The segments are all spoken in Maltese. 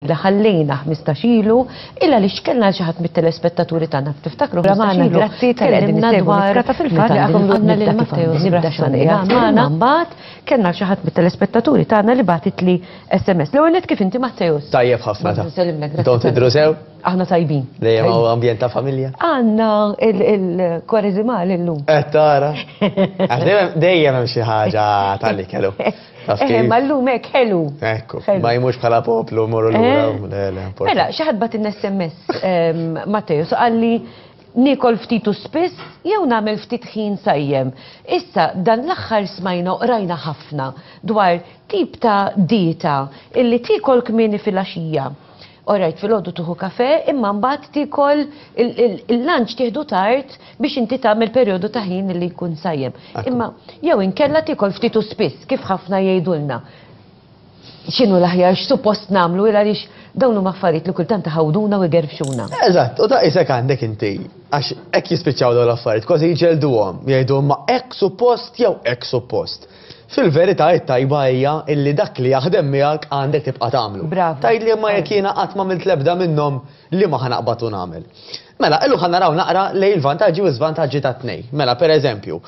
Li ħallejna 15 ilu, il għaliex kellna xi ħadd mit-telespettaturi tagħna tiftakru 15 ilu. Grazzi tal-li qegħdin Tkellimna issegwu dwar Miskata fil-fatt li għakom għandna lil Matteo nibda magħna mbagħad kellna xi ħadd mit-telespettaturi tagħna li bagħtitli SMS. L-ewwel nett kif inti Matteus? Tajjeb ħafna ta' Nsellimlek, grazzi Intom tidru sew? Aħna tajbin. Dejjem hawn ambjent ta' familja. Għandna il-kwareżimal illum. Qed tara. Għax dejjem dejjem hemm xi ħaġa tal-ikel. Taf Eh, kif? ma llum hekk ħelu. Ekku, Ħelu. ma jmux bħala poplu morru lura. Eh? Le, le, importanti. Mela, xi ħadd bagħtilna SMS, Matteo, so qalli niekol ftit u spiss jew nagħmel ftit ħin sajjem. Issa, dan l-aħħar smajna u qrajna ħafna dwar tip ta' dieta illi tiekol kmieni filgħaxija. Alright, filgħodu tieħu kafe, imma mbagħad tiekol il-lunch tieħdu tard biex inti tagħmel perjodu ta' ħin li jkun sajjem. Imma jew inkella tiekol ftit u spiss, kif ħafna jgħidulna. X'inhu l-aħjar, x'suppost nagħmlu, il għaliex dawn huma affarijiet li kultant iħawduna u jgerfxuna. Eżatt, u ta' isek għandek inti, għax hekk jispiċċaw dawn l-affarijiet, kważi jġelduhom, jgħidu ma hekk suppost jew hekk suppost. Fil-verità it-tajba hija illi dak li jaħdem miegħek għandek tibqa' tagħmlu. Bravo. Tgħidli imma jekk jiena qatt m'għamilt l-ebda minnhom li ma ħa naqbad u nagħmel. Mela, illum ħa naraw naqra lejn il-vantaġġi u żvantaġġi tat-tnejn. Mela, per eżempju,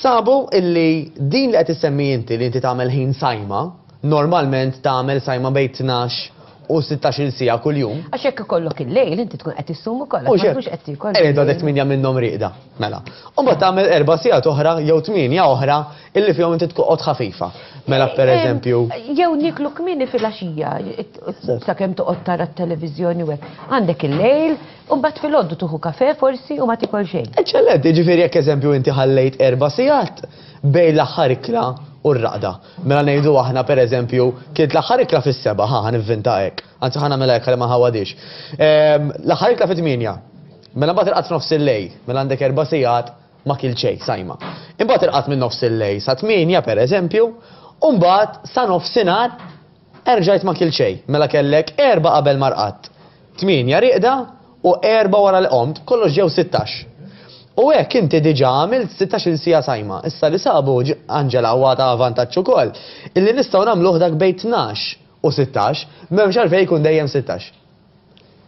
sabu illi din li qed issemmi inti li inti tagħmel ħin sajma, normalment tagħmel sajma bejn 12 u 16-il siegħa kuljum. Għax jekk ikollok il-lejl inti tkun qed issum ukoll, U għax ma tkunx qed tiekol. Ejja, għadek 8 minnhom rieqda, mela. U mbagħad tagħmel 4 sigħat oħra jew 8 oħra illi fihom inti tkoqgħod ħafifa. Mela per eżempju. Jew niklu kmieni filgħaxija, sakemm toqgħod tara t-televiżjoni u hekk. Għandek il-lejl, u mbagħad filgħodu tieħu kafe forsi u ma tikol xejn. Eċċellenti, ġifieri jekk eżempju inti ħallejt 4 sigħat bejn l-aħħar ikla u r-raqda. Mela ngħidu aħna per eżempju, kilt l-aħħar ikla fis-7, ħa nivvinta hekk. Anzi ħa nagħmilha hekk ħalli ma nħawadix. L-aħħar ikla fit-8. Mela mbagħad irqadt f'nofs il-lejl, mela għandek 4 sigħat ma kilt xejn, sajma. Imbagħad irqadt minn nofs il-lejl sa 8 per eżempju, u mbagħad sa nofsinhar erġajt ma kilt xejn. Mela kellek 4 qabel ma rqadt, 8 rieqda u 4 wara li qomt, kollox ġew 16. U hekk inti diġà għamilt 16-il siegħa sajma. Issa li sabu Angela huwa ta' vantaġġ ukoll, illi nistgħu nagħmluh dak bejn 12 u 16, m'hemmx għalfejn jkun dejjem 16.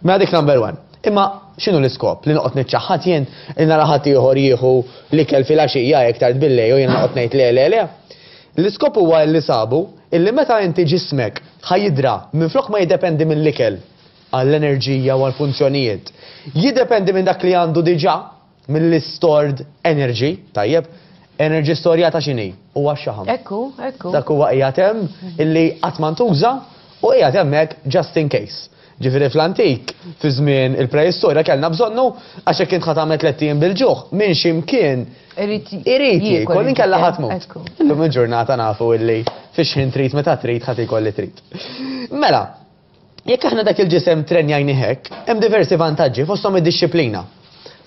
Mela dik number 1. Imma x'inhu l-iskop? Li noqgħod niċċaħħad jien, li nara ħadd ieħor jieħu l-ikel filgħaxija hekk tard bil-lejl u jiena noqgħod ngħid le le le. L-iskop huwa li sabu illi meta inti ġismek ħa jidra minflok ma jiddependi mill-ikel għall-enerġija u għall-funzjonijiet, jiddependi minn dak li għandu diġà, mill-stored energy, tajjeb, energy storjata x'inhi? Huwa x-xaħam. Ekku, ekku. Dak huwa qiegħed hemm illi qatt ma ntuża u qiegħed hemmhekk just in case. Ġifieri fl-antik, fi żmien il-preistorja kellna bżonnu għax jekk int ħa tagħmel tlett ijiem bil-ġuħ, minn xi mkien Irid irid jiekol inkella ħa tmut. Ekku. Illum il-ġurnata nafu illi fix-xħin trid meta trid ħa tiekol li trid. Mela, jekk aħna dak il-ġisem trenjajni hekk, hemm diversi vantaġġi fosthom id-dixxiplina.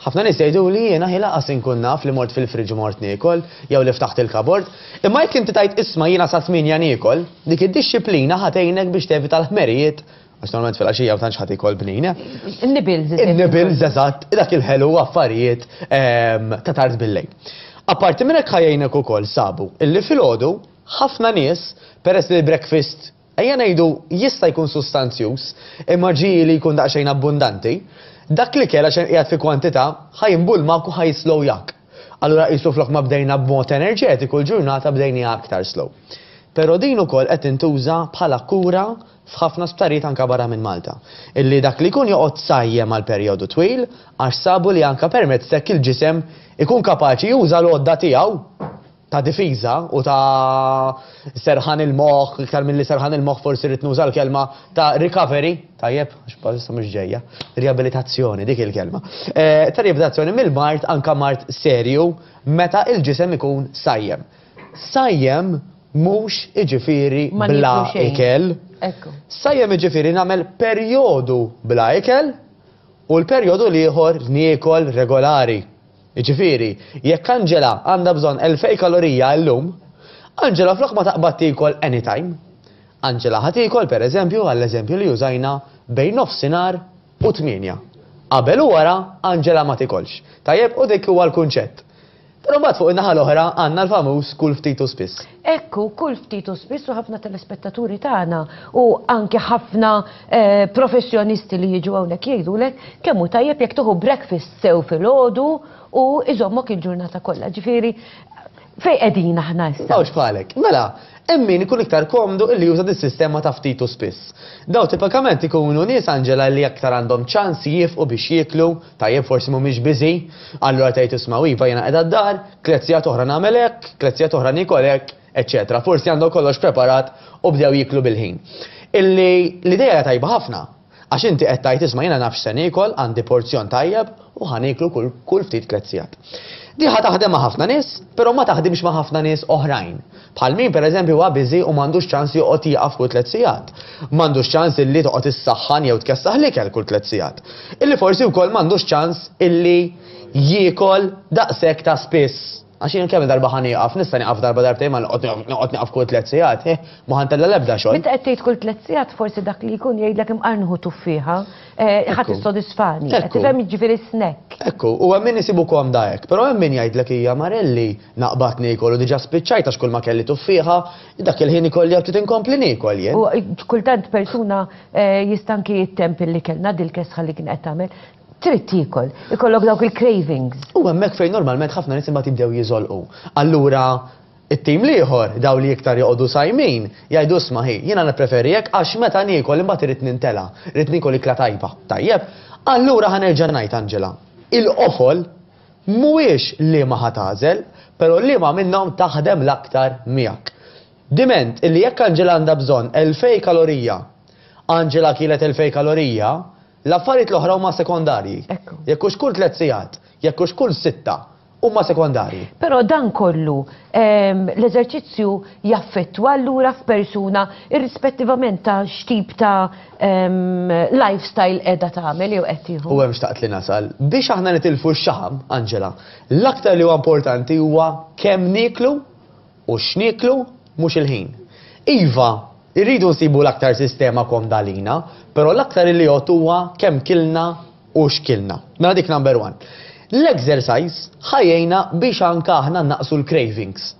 Ħafna nies jgħidu li jiena ħi laqas inkun naf li mort fil-friġ u mort niekol jew li ftaħt il-kabord. Imma jekk inti tgħid isma' jiena sa 8 niekol, dik id-dixxiplina ħa tgħinek biex tevita l-ħmerijiet, għax normalment fil-għaxija ma tantx ħadd ikol bnin. In-nibils, In-nibils, eżatt, dak il-ħelu affarijiet ta' tard bil-lejl. Apparti minn hekk ħa jgħinek ukoll sabu illi filgħodu ħafna nies peress li l-breakfast ejja ngħidu jista' jkun sustanzjuż, imma ġieli jkun daqsxejn abbundanti, dak li kell għax qiegħed fi kwantità ħa jimbulmak u ħa jislowjak. Allura qisu flok ma bdejna b'mod enerġetiku l-ġurnata bdejniha aktar slow. Però din ukoll qed tintuża bħala kura f'ħafna sptarijiet anke barra minn Malta. Illi dak li jkun joqgħod sajjem għal perjodu twil għax sabu li anke permezz t'hekk il-ġisem ikun kapaċi juża l-għodda tiegħu ta' difiża u ta' serħan il-moħħ, iktar milli serħan il-moħħ forsi rrid nuża l-kelma ta' recovery, tajjeb, għax bħalissa mhux ġejja, riabilitazzjoni dik il-kelma. Ta' riabilitazzjoni mill-mard anke mard serju meta il-ġisem ikun sajjem. Sajjem mhux iġifieri Ma bla nieklu xejn. ikel. Ekku. Sajjem iġifieri nagħmel perjodu bla ikel u l-perjodu l-ieħor niekol regolari. Jiġifieri, jekk Angela għandha bżonn 2000 kalorija llum, Angela flok ma taqbad tiekol anytime. Angela ħa tiekol pereżempju għall-eżempju li użajna bejn nofsinhar u 8. Qabel u wara Angela ma tikolx. Tajjeb, u dik huwa l-kunċett. Però mbagħad fuq in-naħa l-oħra għandna l-famuż kull ftit u spiss. Ekku, kull ftit u spiss u ħafna telespettaturi tagħna u anke ħafna professjonisti li jiġu hawnhekk jgħidulek kemm hu tajjeb jekk tieħu breakfast sew filgħodu u iżommok il-ġurnata kollha. Ġifieri fejn qegħdin aħna issa? Hawnx bħalek. Mela, hemm min ikun iktar komdu illi juża dis-sistema ta' ftit u spiss. Daw tipikament ikunu nies Angela li aktar għandhom ċans jiefqu biex jieklu, tajjeb forsi mhumiex busy, allura tgħid isma' iva jiena qiegħda d-dar, tlett sigħat oħra nagħmel hekk, tlett sigħat oħra niekol hekk, eċċetera. Forsi għandhom kollox preparat u bdew jieklu bil-ħin. Illi l-idea hija tajba ħafna. Għax inti qed tgħid isma' jiena naf x'se niekol, għandi porzjon tajjeb u ħa nieklu kull kull ftit tlett sigħat. Di ħa taħdem ma' ħafna nies, però ma taħdimx ma' ħafna nies oħrajn. Bħal min pereżempju huwa busy u m'għandux ċans joqgħod jieqaf kull tlett sigħat. M'għandux ċans illi toqgħod issaħħan jew tkessaħ l-ikel kull tlett sigħat. Illi forsi wkoll m'għandux ċans illi jiekol daqshekk ta' spiss. Għax jien kemm darba ħa nieqaf, nista' nieqaf darba darbtejn ma noqgħod nieqaf kull tlett sigħat, eh, ma ħa ntella' l-ebda xogħol. Meta qed tgħid kull tlett sigħat forsi dak li jkun jgħidlek imqar nieħu tuffieħa, eh, ħa tissodisfani. Qed tifhem jiġifieri snack. Ekku, u hemm min isibu komda hekk, però hemm min jgħidlek hija Marelli naqbad niekol u diġà spiċċajt għax kull ma kelli tuffieħa, dak il-ħin ikolli ftit inkompli niekol jien. U kultant persuna eh, jista' anki t-temp li kellna dil-kesħa li kien qed tagħmel, Trid tiekol, ikollok dawk il-cravings. U hemmhekk fejn normalment ħafna nies imbagħad jibdew jiżolqu. Allura it-tim l-ieħor, daw li iktar joqogħdu sajmin, jgħidu isma' ħi, jiena nippreferi hekk għax meta niekol imbagħad irrid nintela', irrid niekol ikla tajba. Tajjeb? Allura ħa nerġa' ngħid Angela, il-qofol mhuwiex liema ħa tagħżel, però liema minnhom taħdem l-aktar miegħek. Diment illi jekk Angela għandha bżonn 2000 kalorija, Angela kielet 2000 kalorija, L-affarijiet l-oħra huma sekondarji. Ekku. Jekk hux kull tlett sigħat, jekk hux kull sitta, huma sekondarji. Però dan kollu, l-eżerċizzju jaffettwa allura f'persuna irrispettivament ta' x'tip ta' lifestyle qiegħda tagħmel jew qed tieħu. U hemm xtaqt li nasal. Biex aħna nitilfu x-xaħam, Angela, l-aktar li huwa importanti huwa kemm nieklu u x'nieklu mhux il-ħin. Iva, irridu nsibu l-aktar sistema komda għalina, però l-aktar li jgħodd huwa kemm kilna u x'kilna. Mela dik number one. L-exercise ħa jgħinna biex anka aħna nnaqqsu l-cravings.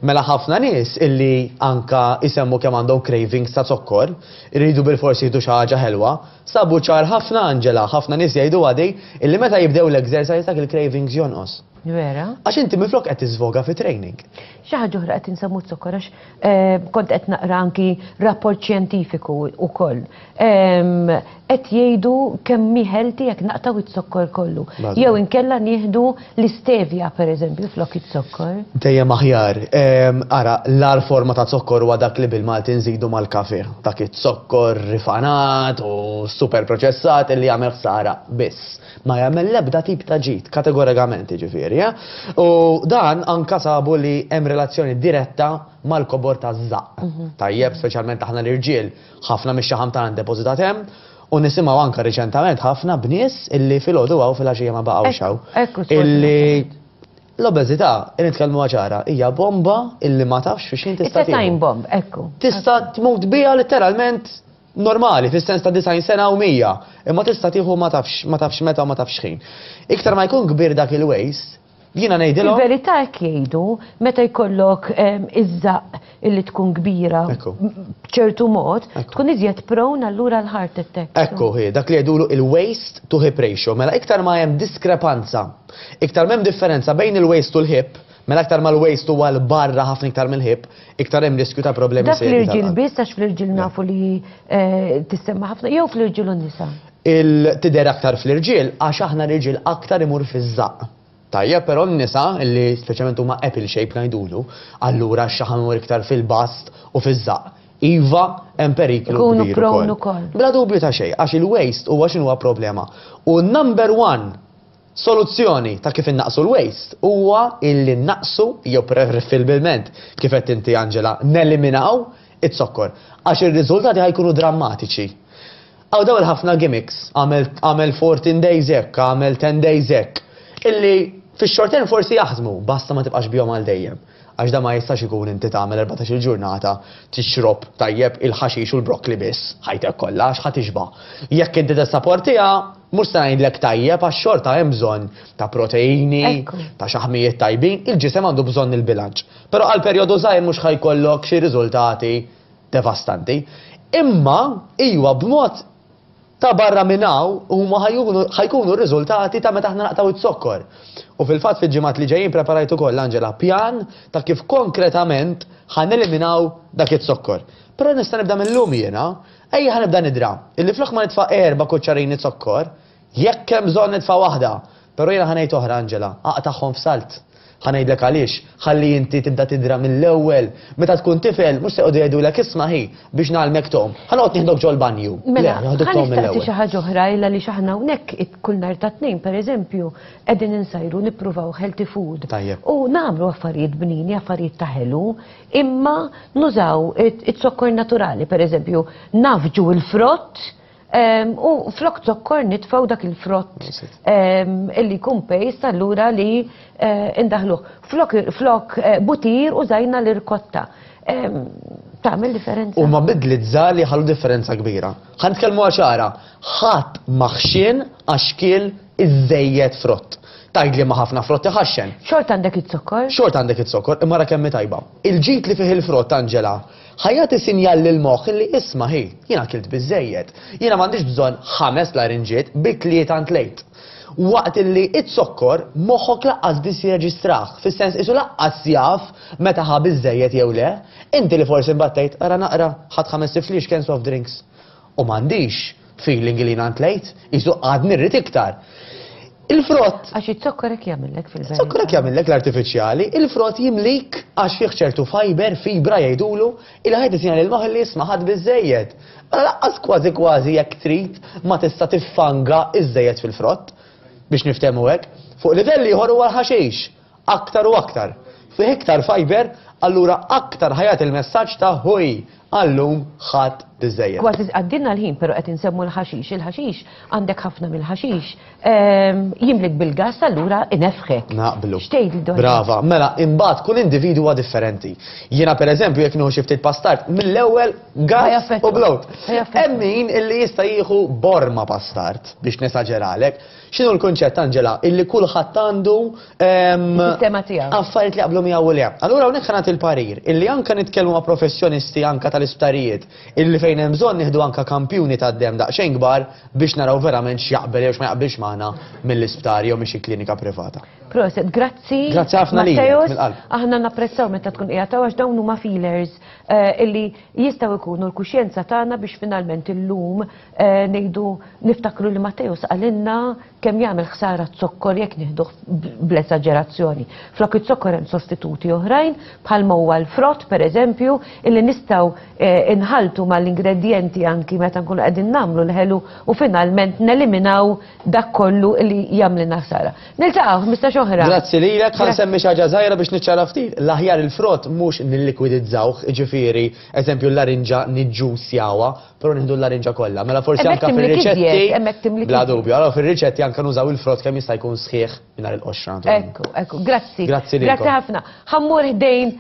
Mela ħafna nies illi anka jsemmu kemm għandhom cravings ta' zokkor, iridu bilfors jieħdu xi ħaġa ħelwa, sabu ċar ħafna Angela, ħafna nies jgħiduha di, illi meta jibdew l-exercise dak il-cravings jonqos. Vera? Għax inti minflok qed tiżvoga fi training. Xi ħaġa oħra qed insemmu z-zokkor għax eh, kont qed naqra anki rapport xjentifiku wkoll. Ehm, qed jgħidu kemm hi healthy jekk naqtaw iz-zokkor kollu. Jew inkella nieħdu l-istevia pereżempju flok iz-zokkor. Dejjem aħjar. Ehm, ara, l-ar forma ta' zokkor huwa dak li bil-Malti nżidu mal-kafe. Dak iz-zokkor rifanat u super proċessat illi jagħmel ħsara biss. Ma jagħmel l-ebda tip ta' ġid, kategorikament jiġifieri. Eh? U dan anka sabu li hemm relazzjoni diretta mal-kobor taż-żaqq. Mhm. Tajjeb, speċjalment aħna l-irġiel, ħafna mix-xaħam tagħna depożitat hemm, u nisimgħu anka riċentament ħafna bnies illi filgħodu hawn filgħaxija ma baqgħux hawn. Illi l-obeżità, nitkellmu ċara, hija bomba illi ma tafx fiex tista' It's a time bomb, ekku. Tista' tmut biha letteralment normali, fis-sens ta' 90 sena u 100, imma tista' tieħu ma tafx ma tafx meta u ma tafx x'ħin. Iktar ma jkun kbir dak il-waste, jiena ngħidilhom. Fil-verità hekk jgħidu, meta jkollok iż-żaqq illi tkun kbira b'ċertu mod, tkun iżjed prone allura l-heart attack. Ekku hi, dak li jgħidulu il-waist to hip ratio. Mela iktar ma hemm diskrepanza, iktar m'hemm differenza bejn il-waist u l-hip, mela iktar ma l-waist huwa 'l barra ħafna iktar mill-hip, Iktar hemm riskju ta' problemi serji. Dak l-irġiel biss għax fl-irġiel nafu li eh, tissemma ħafna jew fl-irġiel u nisa. Il-tidher aktar fl-irġiel għax aħna l-irġiel aktar imur fiż-żaqq. Tajjeb, però n-nisa li speċjalment huma apple shape ngħidulu, allura x-xaħam imur iktar fil-bast u fiż-żaqq. Iva, hemm periklu kbir ukoll. Bla dubju ta' xejn, għax il-waste huwa x'inhuwa problema. U number one Soluzzjoni ta' kif innaqqsu l-waste huwa illi nnaqqsu, jew preferibilment, kif għedt inti Angela, neliminaw iz-zokkor. Għax ir-riżultati ħa jkunu drammatiċi. Hawn dawn il-ħafna gimmicks, agħmel agħmel 14 days hekk, agħmel 10 days hekk, illi fix-short term forsi jaħdmu, basta ma tibqax bihom għal dejjem. Għax dan ma jistax ikun inti tagħmel 14-il ġurnata tixrob tajjeb il-ħaxix u l-broccoli biss ħajtek kollha għax ħa tixba'. Jekk inti tissaportiha, Mhux se ngħidlek tajjeb għax xorta hemm bżonn ta' proteini, ta' xaħmijiet tajbin, il-ġisem għandu bżonn il-bilanċ. Però għal perjodu żgħir mhux ħa jkollok xi riżultati devastanti. Imma iwa b'mod ta' barra minn hawn huma ħa jkunu r-riżultati ta' meta aħna naqtgħu z-zokkor. U fil-fatt fil-ġimgħat li ġejjin preparajt ukoll Angela pjan ta' kif konkretament ħa neliminaw dak iz-zokkor. Però nista' nibda mil-lum jiena, ejja ħa nibda nidra illi flok ma nitfa' erba' kuċċarini zokkor, jekk hemm bżonn nitfa' waħda, però jiena ħa ngħid oħra Angela, aqtagħhom f'salt. Ħa ngħidlek għaliex, ħalli inti tibda tidra mill-ewwel. Meta tkun tifel, mhux se joqogħdu jgħidulek isma' ħi biex ngħallmek tgħum. Ħa noqgħod nieħdok ġol-banju. Le, Mela, joħduk ħa tgħum nistaqsi mill-ewwel. xi ħaġa oħra illa li aħna hawnhekk kull nhar ta' tnejn pereżempju qegħdin insajru nippruvaw healthy food. Tajjeb. U nagħmlu affarijiet bnini, affarijiet ta' ħelu, imma nużaw it-zokkor naturali, pereżempju, nafġu il-frott U flok zokkor nitfaw dak il-frott illi jkun paste allura li eh, indaħluh. Flok, flok eh, butir użajna l-irkotta. Tagħmel differenza. Huma bidliet żgħar li ħallu differenza kbira. Ħa nitkellmu ċara, ħadd maħxien għax kiel iżejjed frott. Tgħidli ma ħafna frott iħaxxen. Xorta għandek iz-zokkor? Xorta għandek iz-zokkor, imma ra kemm hi tajba. Il-ġid li fih il-frott, Angela, ħa jagħti sinjal lill-moħħ illi isma' ħi, jiena kilt biżżejjed. Jiena m'għandix bżonn ħames larinġiet bi tlieta ntlejt. Waqt illi iz-zokkor moħħok laqqas biss jirreġistrah, fis-sens qisu laqqas jaf meta ħa biżżejjed jew le. Inti li forsi mbagħad tgħid, ara naqra, ħadt ħamest ifliexken soft drinks. U m'għandix feeling li jiena ntlejt, qisu għadni rrid iktar. Il-frott. Għax iz-zokkor hekk jagħmillek fil-verità. Iz-zokkor hekk jagħmillek l-artifiċjali, il-frott jimlik għax fih ċertu fiber, fibra jgħidulu, il ħajt isinjal il-moħħ li jisma' ħadd biżejjed. Mela laqqas kważi kważi jekk trid ma tista' tiffanga iżejjed fil-frott biex niftehmu hekk. Fuq livell ieħor huwa l-ħaxix, aktar u aktar. Fih iktar fiber, allura aktar ħajat il-messaġġ ta' ħuj għallum ħadd biżejjed. Kważi għaddinna l-ħin, pero qed insemmu l-ħaxix. Il-ħaxix għandek ħafna mill-ħaxix jimlik bil-gas allura inefħek. Naqblu. X'tgħid dwar? Brava, mela imbagħad kull individwu huwa differenti. Jiena pereżempju jekk nieħu xi ftit pastard mill-ewwel gas u bloat. Hemm min illi jista' jieħu borma pastard biex nesaġeralek. X'inhu l-kunċett Angela? Illi kulħadd għandu sistema tiegħu. Affarijiet li jaqblu miegħu u le. Allura hawnhekk ħa nagħti l-parir illi anke nitkellmu ma' professjonisti anke tal-isptarijiet illi fejn hemm bżonn nieħdu anke kampjuni tad-demm daqsxejn kbar biex naraw verament x'jaqbel jew x'ma jaqbilx magħna mill-isptar jew minn xi klinika privata. Proset, grazzi. Grazzi ħafna lilek, Matteus. mill-qalb. Aħna napprezzaw meta tkun qiegħed hawn għax dawn huma feelers eh, illi jistgħu jkunu l-kuxjenza tagħna biex finalment illum eh, ngħidu niftakru li Matteus qalilna kemm jagħmel ħsara z-zokkor jekk nieħduh bl-esaġerazzjoni. Flok iz-zokkor hemm sostituti oħrajn bħalma huwa l-frott pereżempju illi nistgħu eh, inħaltu mal-ingredjenti anki meta nkunu qegħdin nagħmlu l-ħelu u finalment neliminaw dak kollu li jagħmlilna ħsara. Niltaqgħu 15 oħra. Grazzi lilek, ħa nsemmi xi ħaġa żgħira biex niċċara ftit. L-aħjar il-frott mhux nillikwidizzawh, jiġifieri, eżempju l-larinġa niġġusjawha, Però nieħdu l-larinġa kollha. Mela forsi Hemmhekk anke timlik fir-riċetti. iżjed, hemmhekk timlik Bla iżjed. dubju, allora fir-riċetti anke nużaw il-frott kemm jista' jkun sħiħ mingħajr il-qoxra. naturalment. Ekku, ekku, grazzi. Grazzi lilkom. Grazzi ħafna. Ħammur ħdejn.